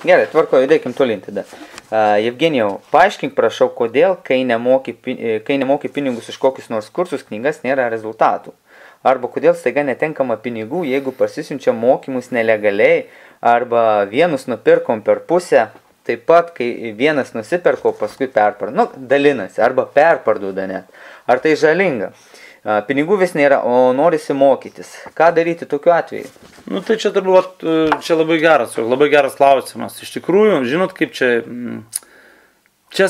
Gerai, tvarko, judėkim tolin tada. Jevgenijau, paaiškink, prašau, kodėl, kai nemoki pinigus iš kokius nors kursus, knygas nėra rezultatų. Arba kodėl staiga netenkama pinigų, jeigu pasisiunčia mokymus nelegaliai, arba vienus nupirkom per pusę, taip pat, kai vienas nusipirko, paskui perparduoda. Nu, dalinasi, arba perparduoda net. Ar tai žalinga? Pinigų vis nėra, o norisi mokytis. Ką daryti tokiu atveju? Nu, tai čia turbūt, čia labai geras klausimas. Iš tikrųjų, žinot, kaip čia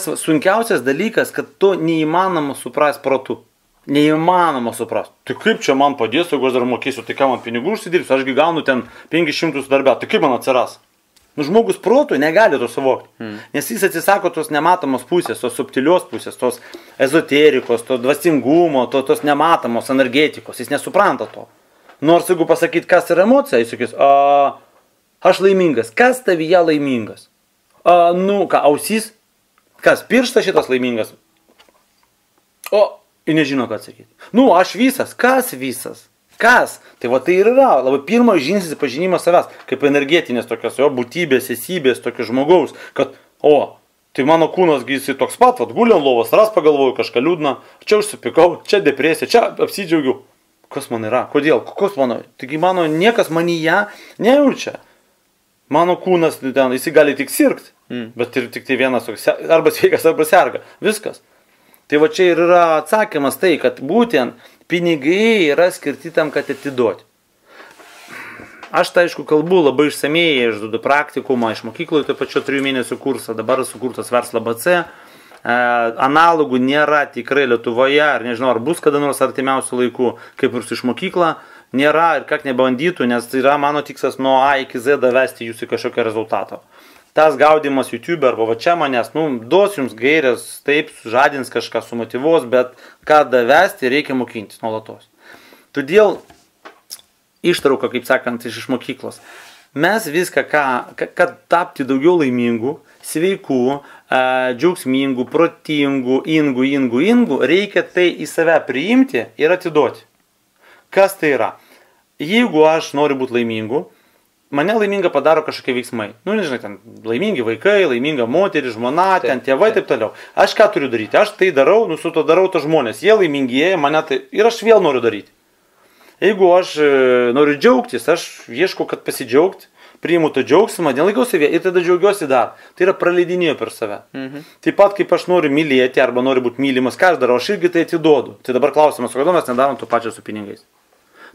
sunkiausias dalykas, kad to neįmanoma suprast protu. Neįmanoma suprast. Tai kaip čia man padės, jeigu aš dar mokėsiu, tai ką man pinigų užsidirbsiu, ašgi gaunu ten 500 darbę, tai kaip man atsiras? Nu, žmogus protų negali to suvokti, nes jis atsisako tos nematomos pusės, tos subtilios pusės, tos ezoterikos, to dvasingumo, tos nematomos energetikos, jis nesupranta to. Nors jeigu pasakyti, kas yra emocija, jis sakys, aš laimingas, kas tavyje laimingas? Nu, ką, ausys? Kas, pirštas šitas laimingas? Ir nežino, ką atsakyti. Nu, aš visas, kas visas? Kas? Tai va tai ir yra labai pirmas žingsnis pažinimas savęs, kaip energetinės tokios jo būtybės, esybės, tokio žmogaus, kad, tai mano kūnas gysi toks pat, guli ant lovos, ras pagalvoju kažką liūdną, čia užsipikau, čia depresija, čia apsidžiaugiu. Kas man yra? Kodėl? Kokios mano? Taigi mano niekas manyje nejaučia. Mano kūnas, ten, jis gali tik sirgti, bet ir tik tai vienas toks, arba sveikas, arba serga. Viskas. Tai va čia ir yra atsakymas tai, kad būtent pinigai yra skirti tam, kad atiduoti. Aš tai aišku kalbu labai išsamei, aš duodu praktikumą iš mokykloje, taip pačio 3 mėnesių kursą, dabar sukurtas Verslo BC. Analogų nėra tikrai Lietuvoje, ar nežinau, ar bus kada nors artimiausių laikų, kaip ir su iš mokykla, nėra ir kak nebandytų, nes tai yra mano tikslas nuo A iki Z davesti jūs į kažkokią rezultatą. Tas gaudimas YouTube arba va čia manęs, duos jums gairės, taip, žadins kažką, sumotyvuos, bet ką davesti, reikia mokintis nuolatos. Todėl ištrauka, kaip sakant, iš mokyklos. Mes viską, kad tapti daugiau laimingų, sveikų, džiaugsmingų, protingų, ingų, reikia tai į save priimti ir atiduoti. Kas tai yra? Jeigu aš noriu būti laimingu, mane laiminga padaro kažkokie veiksmai. Nu, nežinai, ten laimingi vaikai, laiminga moteris, žmona, ten tėvai, taip toliau. Aš ką turiu daryti? Aš tai darau, su to darau to žmonės. Jie laimingieji, mane tai ir aš vėl noriu daryti. Jeigu aš noriu džiaugtis, aš ieškau, kad pasidžiaugti, priimu to džiaugsmą, nelaikau savie ir tada džiaugiuosi dar. Tai yra praleidinėjau per save. Taip pat, kaip aš noriu mylėti arba noriu būti mylimas, ką aš darau, aš irgi tai atiduodu. Tai dabar klausimas, kodėl mes nedarom to pačio su pinigais.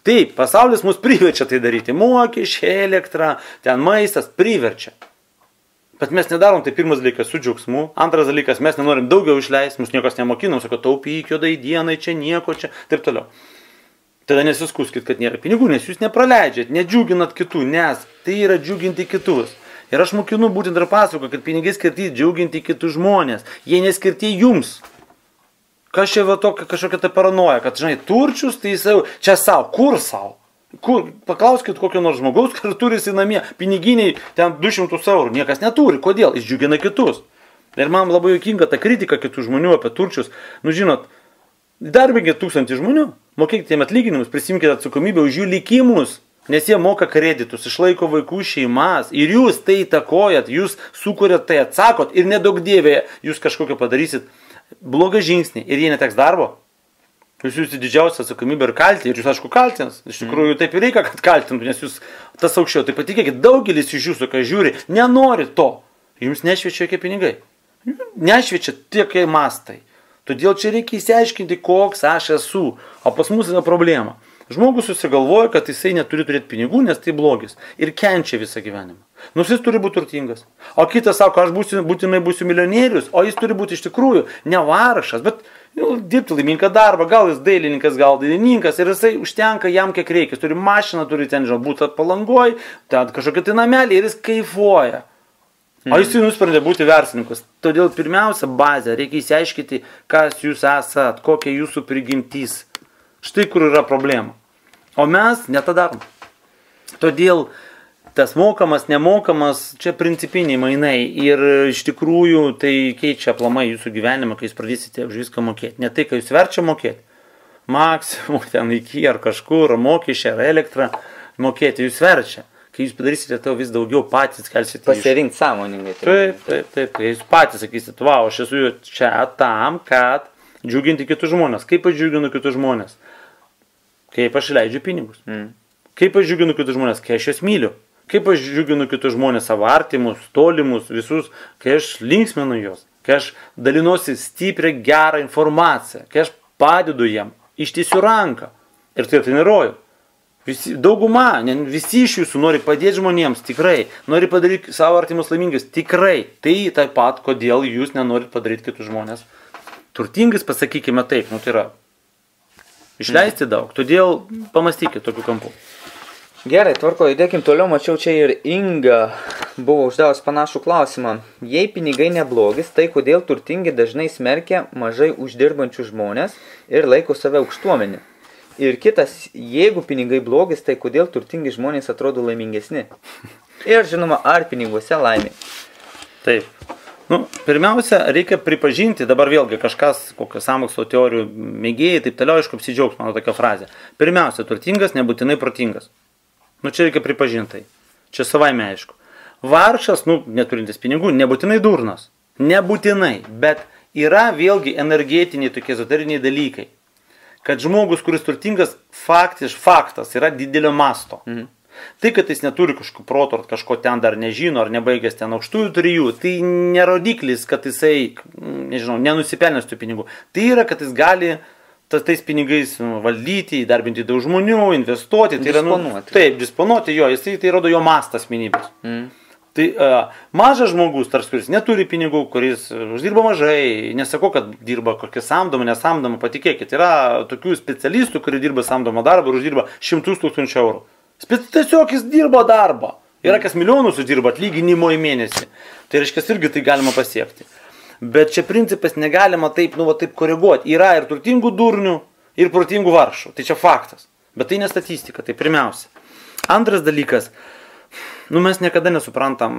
Taip, pasaulis mus priverčia tai daryti. Mokesčiai, elektra, ten maistas priverčia. Bet mes nedarom tai pirmas dalykas su džiaugsmu. Antras dalykas, mes nenorim daugiau išleisti, mus niekas nemokinom, sako, taupyk juodai dienai, čia nieko, čia, taip toliau. Tada nesiskuskit, kad nėra pinigų, nes jūs nepraleidžiat, nedžiuginat kitų, nes tai yra džiuginti kitus. Ir aš mokinu būtent ir pasakoju, kad pinigai skirti džiuginti kitus žmonės. Jie neskirti jums. Kas čia va tokia kažkokia ta paranoja, kad, žinai, turčius, tai jis čia savo, kur savo? Paklauskit kokio nors žmogaus, kad turi jis namie piniginiai ten 200 eurų, niekas neturi, kodėl? Jis džiugina kitus. Ir man labai juokinga ta kritika kitų žmonių apie turčius. Nu, žinot, darbinkit 1000 žmonių, mokėkite jiem atlyginimus, prisimkite atsakomybę už jų likimus, nes jie moka kreditus, išlaiko vaikų šeimas ir jūs tai įtakojat, jūs sukuriat tai, atsakot ir nedaug dievė jūs kažkokio padarysit blogą žingsnį ir jie neteks darbo. Jūs jūsų didžiausia atsakomybė ir kaltė, ir jūs aišku kaltins. Iš tikrųjų taip ir reikia, kad kaltintų, nes jūs tas aukščiau. Tai patikėkit, daugelis iš jūsų, kai žiūri, nenori to. Jums nešviečia jokie pinigai. Nešviečia tiek mastai. Todėl čia reikia įsiaiškinti, koks aš esu. O pas mus yra problema. Žmogus susigalvoja, kad jisai neturi turėti pinigų, nes tai blogis. Ir kenčia visą gyvenimą. Nors jis turi būti turtingas. O kitas sako, aš būtinai būsiu milijonierius, o jis turi būti iš tikrųjų ne vargšas, bet dirbti laimingą darbą, gal jis dailininkas, gal dailininkas ir jisai užtenka jam kiek reikia. Jis turi mašiną, turi ten būti Palangoj, ten kažkokia tai namelį ir jis kaifuoja. O jis nusprendė būti verslininkas. Todėl pirmiausia bazė, reikia įsiaiškinti, kas jūs esat, kokia jūsų prigimtis. Štai kur yra problema. O mes netą darom. Todėl tas mokamas, nemokamas, čia principiniai mainai ir iš tikrųjų tai keičia aplamai jūsų gyvenimą, kai jūs pradėsite už viską mokėti. Ne tai, kai jūs verčia mokėti. Maksimum ten iki ar kažkur, mokesčiai ar elektrą mokėti, jūs verčia. kai jūs padarysite to vis daugiau patys kelsite. Pasirinkti sąmoningai. Taip. Kai jūs patys sakysite, wow, aš esu čia tam, kad džiuginti kitus žmonės. Kaip aš džiuginu kitus žmonės? Kaip aš leidžiu pinigus. Kaip aš džiuginu kitus žmonės? Kai aš juos myliu. Kaip aš džiuginu kitus žmonės, savo artimus, tolimus, visus, kai aš linksminu juos, kai aš dalinuosi stiprią gerą informaciją, kai aš padedu jam, ištiesiu ranką ir tai treniruoju. Dauguma, visi iš jūsų nori padėti žmonėms, tikrai, nori padaryti savo artimus laimingus, tikrai. Tai taip pat, kodėl jūs nenorit padaryti kitus žmonės turtingais, pasakykime taip, tai yra išleisti daug, todėl pamastykite tokiu kampu. Gerai, tvarko, judėkim toliau, mačiau čia ir Inga buvo uždavus panašų klausimą. Jei pinigai neblogis, tai kodėl turtingi dažnai smerkia mažai uždirbančių žmonės ir laiko save aukštuomenį? Ir kitas, jeigu pinigai blogis, tai kodėl turtingi žmonės atrodo laimingesni? Ir žinoma, ar piniguose laimė? Taip. Pirmiausia, reikia pripažinti, dabar vėlgi kažkas, kokios sąmokslo teorijų mėgėjai, taip toliau, aišku, apsidžiaugs mano tokia frazė. Pirmiausia, turtingas nebūtinai protingas. Čia reikia pripažinti. Čia savaime aišku. Vargšas, neturintis pinigų, nebūtinai durnas. Nebūtinai, bet yra vėlgi energetiniai tokie ezoteriniai dalykai. Kad žmogus, kuris turtingas, faktas yra didelio masto. Tai, kad jis neturi kažkokio proto, ar kažko ten dar nežino, ar nebaigęs ten aukštųjų trijų, tai nerodiklis, kad jisai, nenusipelnęs tų pinigų. Tai yra, kad jis gali tais pinigais valdyti, įdarbinti daug žmonių, investuoti. Disponuoti. Taip, disponuoti jo, tai rodo jo mastas asmenybės. Tai mažas žmogus, tarsi kuris neturi pinigų, kuris uždirba mažai, nesakau, kad dirba kokią samdomą, nesamdomą, patikėkit, yra tokių specialistų, kurie dirba samdomą darbą ir uždirba 100 000 eurų. Tiesiog jis dirba darbą. Yra kas milijonus uždirba atlyginimo į mėnesį. Tai reiškia, irgi tai galima pasiekti. Bet čia principas negalima taip koreguoti. Yra ir turtingų durnių, ir protingų vargšų. Tai čia faktas. Bet tai ne statistika, tai pirmiausia. Antras dalykas, mes niekada nesuprantam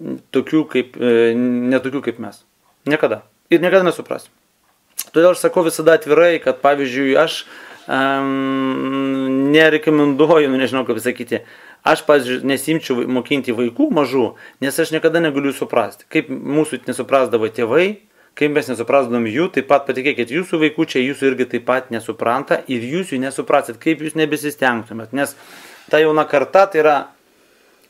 netokių kaip mes. Niekada. Ir niekada nesuprasim. Todėl aš sakau visada atvirai, kad pavyzdžiui, aš nerekomenduoju, nežinau kaip sakyti, aš, pavyzdžiui, nesimčiau mokinti vaikų mažų, nes aš niekada negaliu suprasti. Kaip mūsų nesuprasdavo tėvai, kaip mes nesuprasdavom jų, taip pat patikėkit, jūsų vaikų čia jūsų irgi taip pat nesupranta ir jūs jų nesuprasit, kaip jūs nebesistengtumėt, nes ta jauna karta tai yra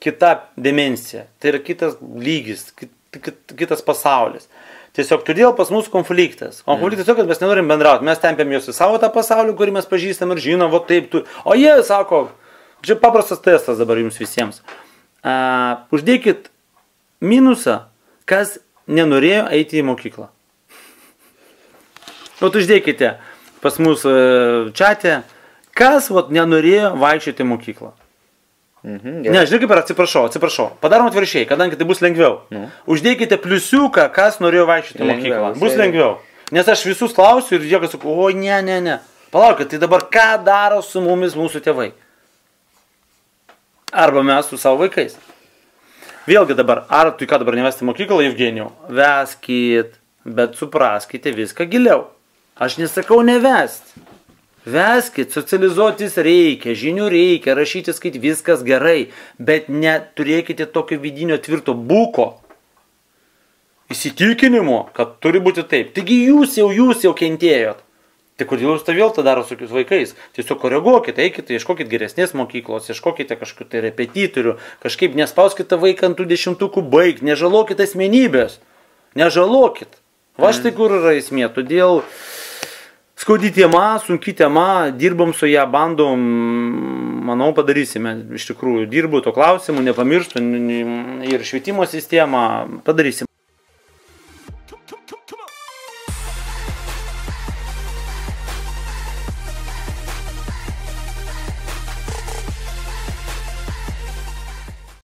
kita dimensija, tai yra kitas lygis, kitas pasaulis. Tiesiog todėl pas mus konfliktas. O konfliktas tiesiog, kad mes nenorim bendrauti. Mes tempiam juos į savo tą pasaulį, kurį mes pažįstam ir žinom, o jie sako, čia paprastas testas dabar jums visiems. Uždėkit minusą, kas nenorėjo eiti į mokyklą. Uždėkite pas mus čate, kas nenorėjo vaikščioti į mokyklą. Ne, žinai kaip ir atsiprašau. Padarom atvirkščiai, kadangi tai bus lengviau. Uždėkite pliusiuką, kas norėjo vaikščioti į mokyklą. Bus lengviau. Nes aš visus klausiu ir jie sako, o ne. Palaukit, tai dabar ką daro su mumis mūsų tėvai? Arba mes su savo vaikais. Vėlgi dabar, ar tu ką dabar nevesti į mokyklą, Evgenijau? Veskit, bet supraskite viską giliau. Aš nesakau nevesti. Veskit, socializuotis reikia, žinių reikia, rašyti, skaityti, viskas gerai, bet neturėkite tokio vidinio tvirto būko, įsitikinimo, kad turi būti taip. Taigi jūs jau kentėjot. Tai kodėl jūs tą vėl tą daro su vaikais? Tiesiog koreguokite, eikite, ieškokite geresnės mokyklos, ieškokite kažkokių tai repetitorių, kažkaip nespauskite vaiką ant tų 10 baig, nežalokite asmenybės, nežalokit. Va štai kur yra esmė, todėl skaudi tema, sunki tema, dirbam su ją, bandom, manau, padarysime. Iš tikrųjų, dirbu to klausimu, nepamirštu ir švietimo sistemą padarysim.